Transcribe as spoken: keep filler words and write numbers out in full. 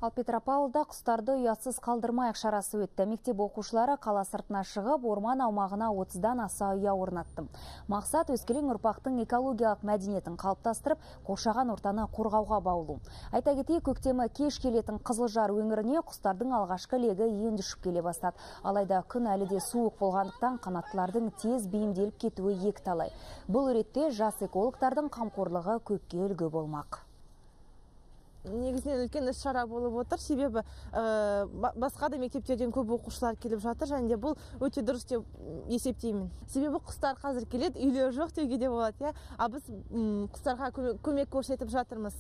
Ал Петропавлда құстарды ұятсыз қалдырмайық шарасы өтті. Мектеп оқушылары қала сыртына шығып, орман аумағына отыздан аса ұя орнатты. Мақсат өскелең ұрпақтың экологиялық мәдениетін қалыптастырып, қоршаған ортаны қорғауға баулу. Айта кетейік, көктемі кеш келетін Қызылжар өңіріне құстардың алғашқы легі енді ұшып келе бастады. Алайда күн әлі де суық болғандықтан қанаттылардың тез бейімделіп кетуі екіталай. Бұл ретте жас экологтардың қамқорлығы көпке үлгі болмақ. Негізінен үлкен іс-шара болып отыр, себебі ә, басқа да мектептерден көп оқушылар келіп жатыр, және де бұл өте дұрыс деп есептеймін. Себебі құстар қазір келеді, үйлері жоқ деуге де болады, иә. А біз құстарға көмек көрсетіп жатырмыз.